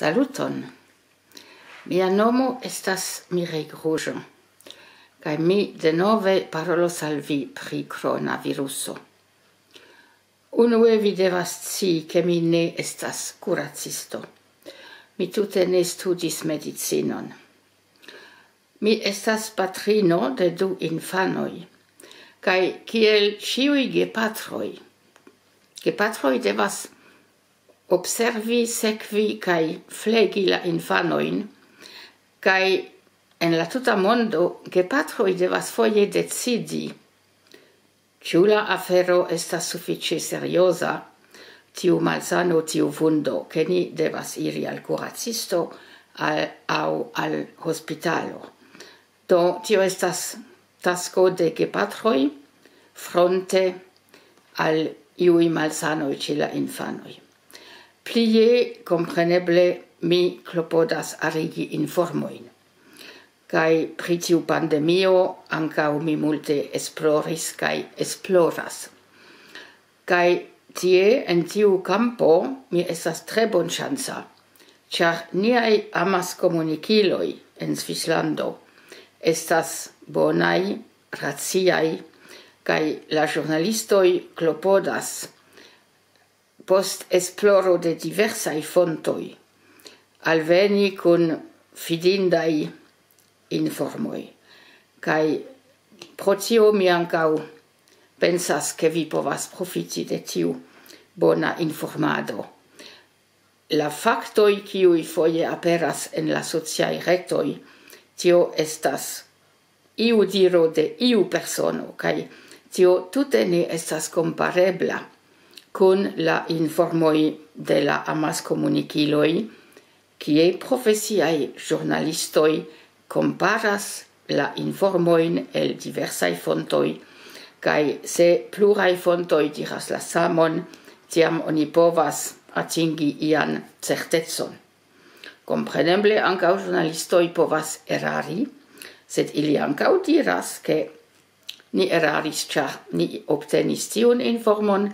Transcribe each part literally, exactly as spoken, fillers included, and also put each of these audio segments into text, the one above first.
Saluton. Mia nomo estas Mireille Gruĝo, kaj mi denove parolos al vi pri koronaviruso. Unue vi devas scii, ke mi ne estas kuracisto. Mi tute ne studis medicinon. Mi estas patrino de du infanoj, kaj kiel ĉiuj gepatroj, gepatroj devas observi, sekvi kaj flegi la infanojn, kaj en la tuta mondo gepatroj devas foje decidi, ĉu la afero estas sufiĉe serioza, tiu malsano, tiu vundo, ke ni devas iri al kuracisto al, aŭ al hospitalo. Do, tio estas tasko de gepatroj fronte al iuj malsanoj ĉe la infanoj. Plie, kompreneble, mi klopodas arigi informojn. Kaj pri tiu pandemio ankaŭ mi multe esploris kaj esploras. Kaj tie, en tiu kampo, mi estas tre bonŝanca, ĉar niaj amaskomunikiloj en Svislando estas bonaj, raciaj, kaj la ĵurnalistoj klopodas post esploro de diversaj fontoj alveni kun fidindaj informoj. Kaj pro tio mi ankaŭ pensas, ke vi povas profiti de tiu bona informado. La faktoj, kiuj foje aperas en la sociaj retoj, tio estas iu diro de iu persono, kaj tio tute ne estas komparebla kun la informoj de la amaskomunikiloj, kie profesiaj ĵurnalistoj komparas la informojn el diversaj fontoj, kaj se pluraj fontoj diras la samon, tiam oni povas atingi ian certecon. Kompreneble ankaŭ ĵurnalistoj povas erari, sed ili ankaŭ diras, ke ni eraris, ĉar ni obtenis tiun informon,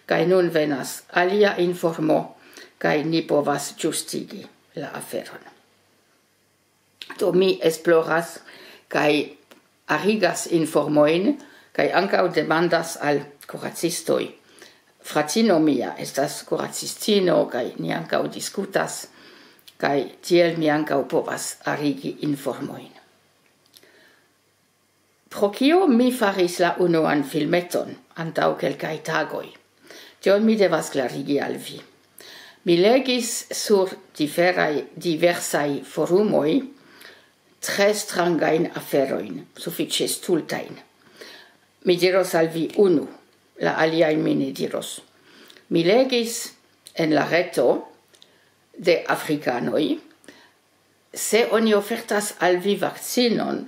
kaj nun venas alia informo, kaj ni povas ĝustigi la aferon. Do mi esploras kaj arigas informojn, kaj ankaŭ demandas al kuracistoj. Fratino mia estas kuracistino, kaj ni ankaŭ diskutas, kaj tiel mi ankaŭ povas arigi informojn. Pro kio mi faris la unuan filmeton antaŭ kelkaj tagoj? Tion mi devas klarigi al vi. Mi legis sur diferaj, diversaj forumoj tre strangajn aferojn, sufiĉe stultajn. Mi diros al vi unu, la aliajn mi ne diros. Mi legis en la reto de afrikanoj, se oni ofertas al vi vakcinon,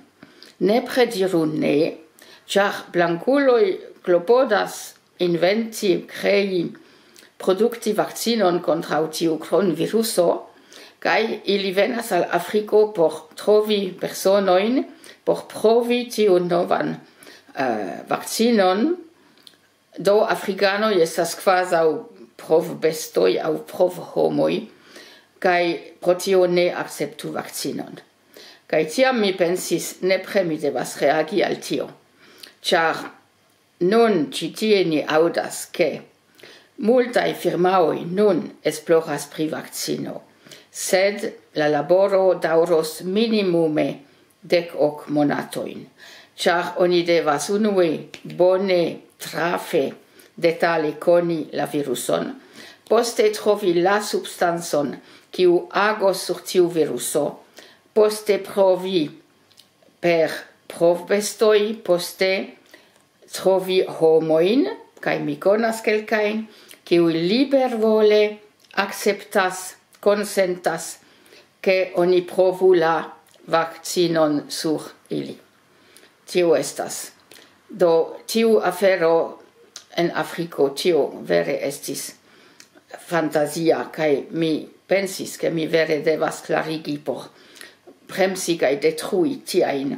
nepre diru ne, ĉar blankuloj klopodas inventi, krei, produkti vakcinon kontraŭ tiu kronviruso, kaj ili venas al Afriko por trovi personojn, por provi tiun novan, eh, vakcinon. Do afrikanoj estas kvazaŭ provbestoj aŭ provhomoj, kaj pro tio ne akceptu vakcinon. Kaj tiam mi pensis, nepre mi devas reagi al tio, ĉar nun ĉi tie ni aŭdas, ke multaj firmaoj nun esploras pri vakcino, sed la laboro daŭros minimume dek ok monatojn, ĉar oni devas unue bone, trafe, detale koni la viruson, poste trovi la substancon, kiu agos sur tiu viruso, poste provi per provbestoj, poste trovi homojn, kaj mi konas kelkajn, kiuj libervole akceptas, konsentas, ke oni provu la vakcinon sur ili. Tio estas. Do, tiu afero en Afriko, tio vere estis fantazia, kaj mi pensis, ke mi vere devas klarigi por bremsi kaj detrui tiajn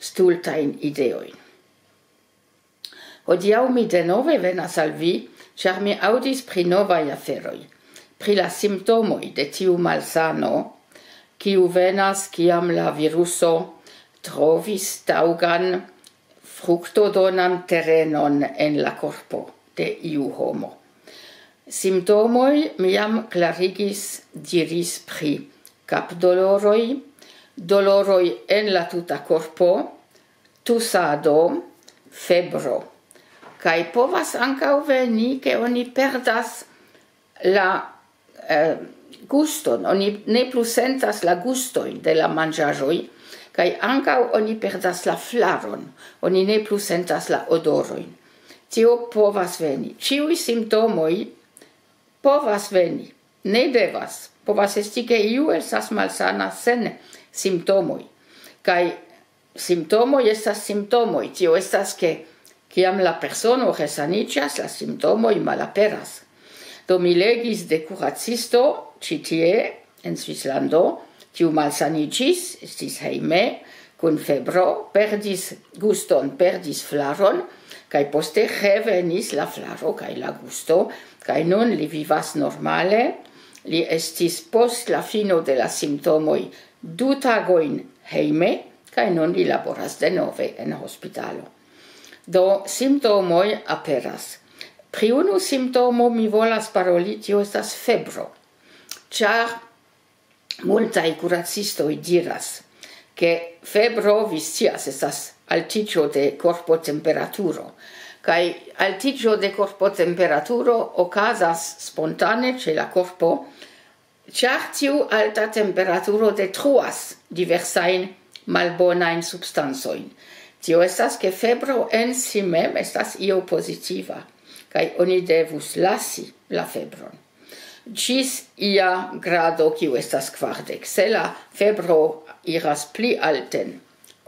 stultajn ideojn. Hodiaŭ mi denove venas al vi, ĉar mi aŭdis pri novaj aferoj. pri la simptomoj de tiu malsano, kiu venas, kiam la viruso trovis taŭgan fruktodonan terenon en la korpo de iu homo. Simptomoj mi jam klarigis, diris pri kapdoloroj, doloroj en la tuta korpo, tusado, febro. Kaj povas ankaŭ veni, ke oni perdas la eh, guston, oni ne plu sentas la gustojn de la manĝaĵoj, kaj ankaŭ oni perdas la flaron, oni ne plu sentas la odorojn. Tio povas veni. Ĉiuj simptomoj povas veni, ne devas. Povas esti, ke iu estas malsana sen simptomoj. Kaj simptomoj estas simptomoj. Tio estas, ke kiam la persono resaniĝas, la simptomoj malaperas. Do mi legis de kuracisto ĉi tie en Svislando, kiu malsaniĝis, estis hejme kun febro, perdis guston, perdis flaron, kaj poste revenis la flaro kaj la gusto, kaj nun li vivas normale. Li estis post la fino de la simptomoj du tagojn hejme, kaj nun li laboras denove en hospitalo. Do simptomoj aperas. Pri unu simptomo mi volas paroli, tio estas febro. Ĉar multaj kuracistoj diras, ke febro, vi scias, estas altiĝo de korpotemperaturo. Kaj altiĝo de korpotemperaturo okazas spontane ĉe la korpo, ĉar tiu alta temperaturo detruas diversajn malbonajn substancojn. Tio estas, ke febro en si mem estas io pozitiva, kaj oni devus lasi la febron ĝis ia grado, kiu estas kvardek. Se la febro iras pli alten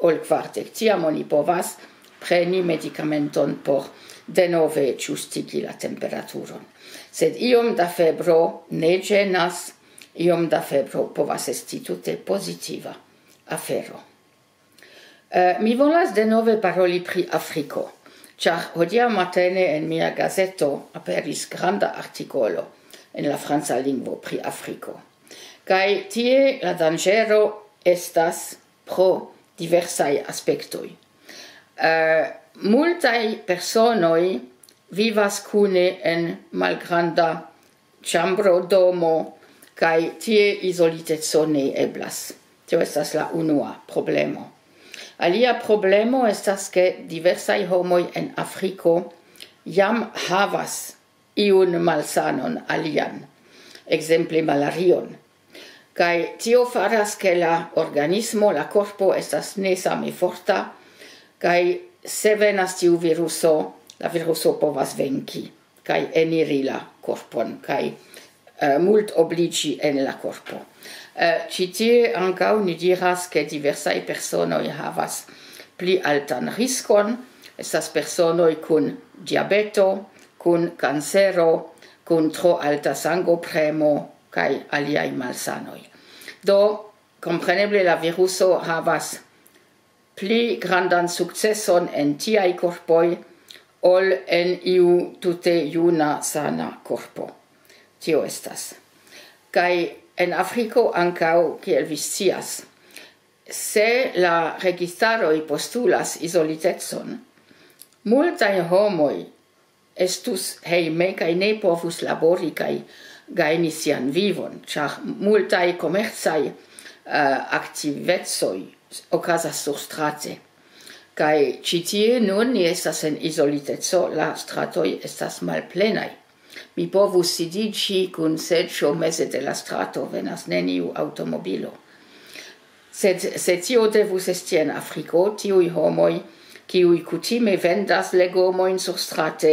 ol kvardek, tiam oni povas preni medikamenton por denove ĝustigi la temperaturon. Sed iom da febro ne ĝenas, iom da febro povas esti tute pozitiva afero. Eh, mi volas denove paroli pri Afriko, ĉar hodiaŭ matene en mia gazeto aperis granda artikolo en la franca lingvo pri Afriko. Kaj tie la danĝero estas pro diversaj aspektoj. Eh, multaj personoj vivas kune en malgranda ĉambro, domo, kaj tie izoliteco ne eblas. Tio estas la unua problemo. Alia problemo estas, ke diversaj homoj en Afriko jam havas iun malsanon alian, ekzemple malarion. Kaj tio faras, ke la organismo, la korpo estas ne same forta, kaj se venas tiu viruso, la viruso povas venki kaj eniri la korpon, kaj eh, multobliĝi en la korpo. Eh, ĉi tie ankaŭ ni diras, ke diversaj personoj havas pli altan riskon. Estas personoj kun diabeto, kun kancero, kun tro alta sangopremo kaj aliaj malsanoj. Do, kompreneble la viruso havas pli grandan sukceson en tiaj korpoj ol en iu tute juna, sana korpo. Tio estas. Kaj en Afriko ankaŭ, kiel vi scias, se la registaroj postulas izolitecon, multaj homoj estus hejme kaj ne povus labori kaj gajni sian vivon, ĉar multaj komercaj, eh, aktivecoj okazas surstrate. Kaj ĉi tie nun ni estas en izoliteco, la stratoj estas malplenaj. Mi povus sidiĝi kun seĝo meze de la strato, venas neniu aŭtomobilo. Sed se tio devus esti en Afriko, tiuj homoj, kiuj kutime vendas legomojn surstrate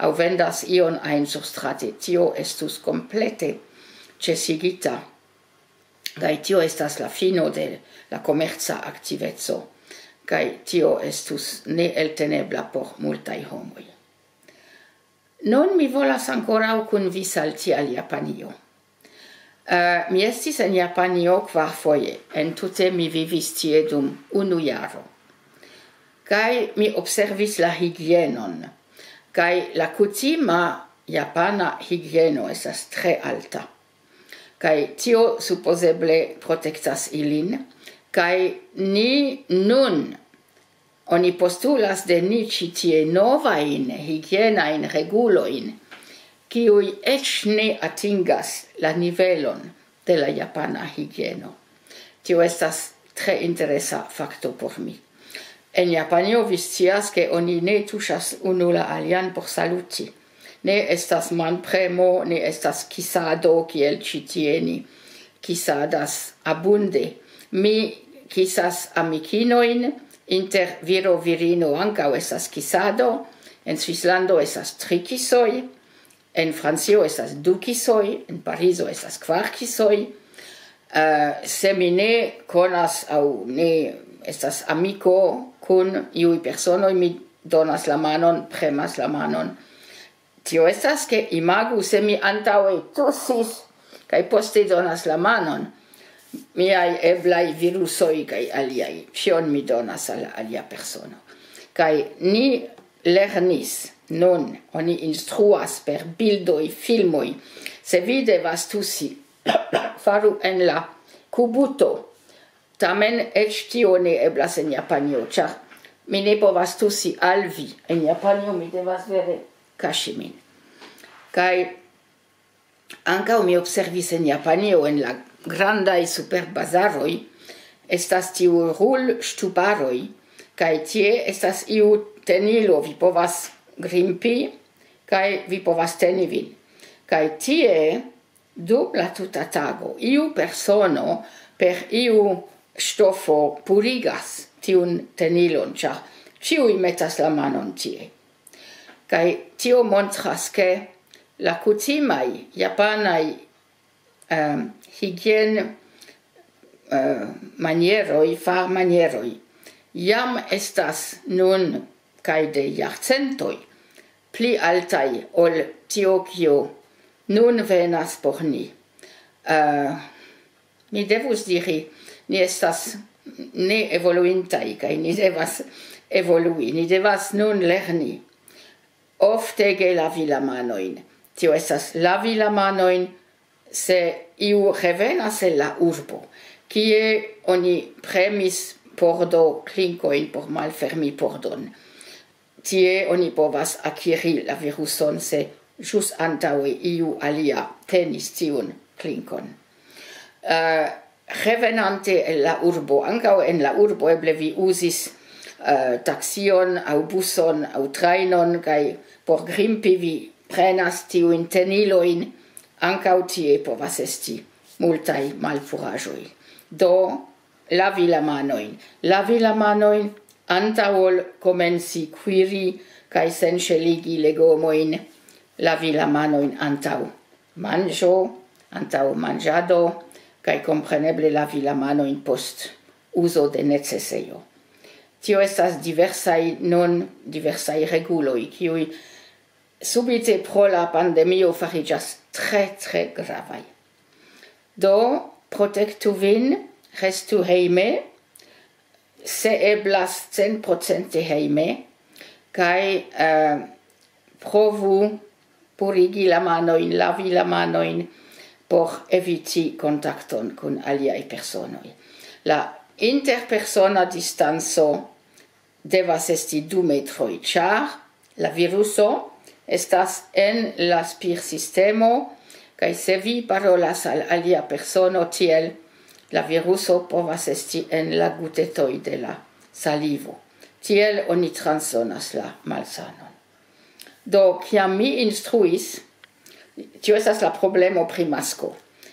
aŭ vendas ion ajn surstrate, tio estus komplete ĉesigita. Kaj tio estas la fino de la komerca aktiveco. Kaj tio estus neeltenebla por multaj homoj. Nun mi volas ankoraŭ kun vi salti al Japanio. Eh, mi estis en Japanio kvarfoje. En tute mi vivis tie dum unu jaro. Kaj mi observis la higienon. Kaj la kutima japana higieno estas tre alta. Kaj tio supozeble protektas ilin. Kaj ni nun, oni postulas de ni ĉi tie novajn higienajn regulojn, kiuj eĉ ne atingas la nivelon de la japana higieno. Tio estas tre interesa fakto por mi. En Japanio vi scias, ke oni ne tuŝas unu la alian por saluti. Ne estas manpremo, ne estas kisado kiel ĉi tie ni kisadas abunde. Mi kisas amikinojn, inter viro virino ankaŭ estas kisado, en Svislando estas tri kisoj, en Francio estas du kisoj, en Parizo estas kvar kisoj. Eh, se mi ne konas aŭ ne estas amiko kun iuj personoj, mi donas la manon, premas la manon. Tio estas, ke imagu, se mi antaŭe tusis kaj poste donas la manon, miaj eblaj virusoj kaj aliaj, ĉion mi donas al alia persono. Kaj ni lernis, nun oni instruas per bildoj, filmoj, se vi devas tusi, faru en la kubuto. Tamen eĉ tio ne eblas en Japanio, ĉar mi ne povas tusi al vi. En Japanio mi devas vere kaŝi min. Kaj ankaŭ mi observis en Japanio, en la grandaj superbazaroj, estas tiu rulŝtuparoj, kaj tie estas iu tenilo, vi povas grimpi, kaj vi povas teni vin. Kaj tie, dum la tuta tago, iu persono per iu ŝtofo purigas tiun tenilon, ĉar ĉiuj metas la manon tie. Kaj tio montras, ke la kutimaj japanaj, em, higien-, eh, manieroj, farmanieroj, jam estas nun kaj de jarcentoj pli altaj ol tio, kio nun venas por ni. Eh, mi devus diri, ni estas ne evoluintaj kaj ni devas evolui. Ni devas nun lerni oftege lavi la manojn. Tio estas lavi la manojn, se iu revenas el la urbo, kie oni premis pordo klinkojn por malfermi pordon. Tie oni povas akiri la viruson, se ĵus antaŭe iu alia tenis tiun klinkon. Eh, revenante el la urbo, ankaŭ en la urbo eble vi uzis, eh, taksion aŭ buson aŭ trajnon, kaj por grimpi vi prenas tiujn tenilojn, ankaŭ tie povas esti multaj malpuraĵoj. Do, lavi la manojn. Lavi la manojn antaŭ ol komenci kuiri kaj senŝeligi legomojn. Lavi la manojn antaŭ manĝo, antaŭ manĝado, kaj kompreneble lavi la manojn post uzo de necesejo. Tio estas diversaj nun, diversaj reguloj, kiuj subite pro la pandemio fariĝas tre, tre gravaj. Do, protektu vin, restu hejme, se eblas, centprocente hejme, kaj, eh, provu purigi la manojn, lavi la manojn, por eviti kontakton kun aliaj personoj. La interpersona distanco devas esti du metroj, ĉar la viruso estas en la spirsistemo, kaj se vi parolas al alia persono tiel, la viruso povas esti en la gutetoj de la salivo. Tiel oni transdonas la malsanon. Do, kiam mi instruis, tio estas la problemo pri masko.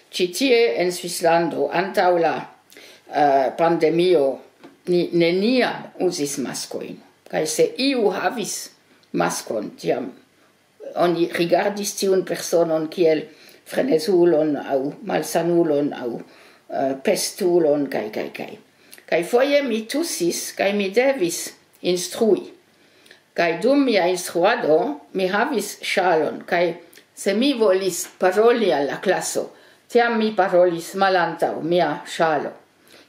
Ĉi tie en Svislando, antaŭ la, eh, pandemio, ni neniam uzis maskojn. Kaj se iu havis maskon, tiam oni rigardis tiun personon kiel frenezulon aŭ malsanulon aŭ, eh, pestulon, kaj, kaj, kaj. Kaj foje mi tusis, kaj mi devis instrui. Kaj dum mia instruado mi havis ŝalon, kaj se mi volis paroli al la klaso, tiam mi parolis malantaŭ mia ŝalo.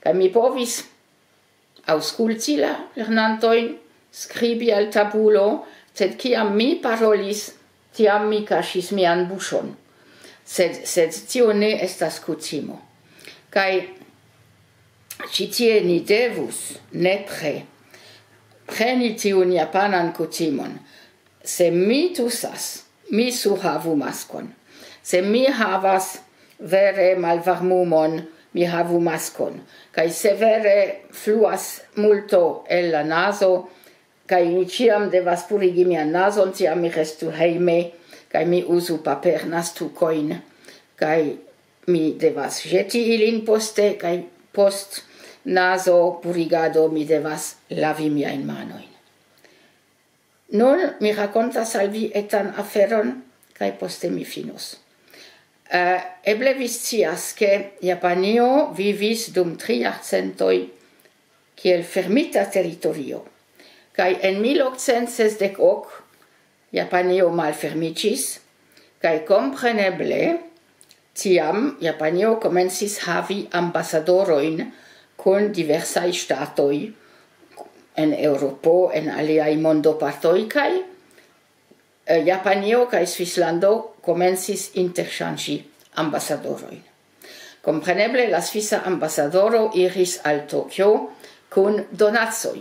Kaj mi povis aŭskulti la lernantojn, skribi al tabulo, sed kiam mi parolis, tiam mi kaŝis mian buŝon. Sed, sed tio ne estas kutimo. Kaj ĉi tie ni devus nepre preni tiun japanan kutimon. Se mi tusas, mi surhavu maskon. Se mi havas vere malvarmumon, mi havu maskon. Kaj se vere fluas multo el la nazo, kaj mi ĉiam devas purigi mian nazon, tiam mi restu hejme, kaj mi uzu papernastukojn, kaj mi devas ĵeti ilin poste, kaj post nazo purigado mi devas lavi miajn manojn. Nun mi rakontas al vi etan aferon, kaj poste mi finos. Uh, eble vi scias, ke Japanio vivis dum tri jarcentoj kiel fermita teritorio. Kaj en mil okcent sesdek ok Japanio malfermiĝis, kaj kompreneble tiam Japanio komencis havi ambasadorojn kun diversaj ŝtatoj en Eŭropo, en aliaj mondopartoj, kaj eh, Japanio kaj Svislando komencis interŝanĝi ambasadorojn. Kompreneble la svisa ambasadoro iris al Tokio kun donacoj.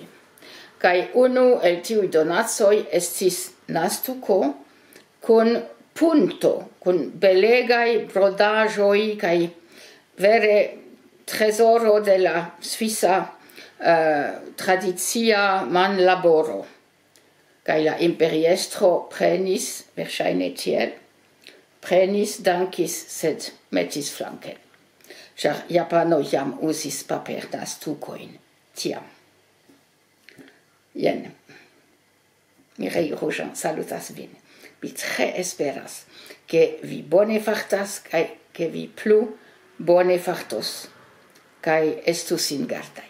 Kaj unu el tiuj donacoj estis nastuko kun punto, kun belegaj brodaĵoj kaj vere trezoro de la svisa eh, tradicia manlaboro. Kaj la imperiestro prenis, verŝajne tiel, prenis, dankis, sed metis flanken. Ĉar Japano jam uzis papernastukojn tiam. Jen. Mireille Rojan salutas vin. Mi tre esperas, ke vi bone fartas, kaj ke vi plu bone fartos, kaj estu singardaj.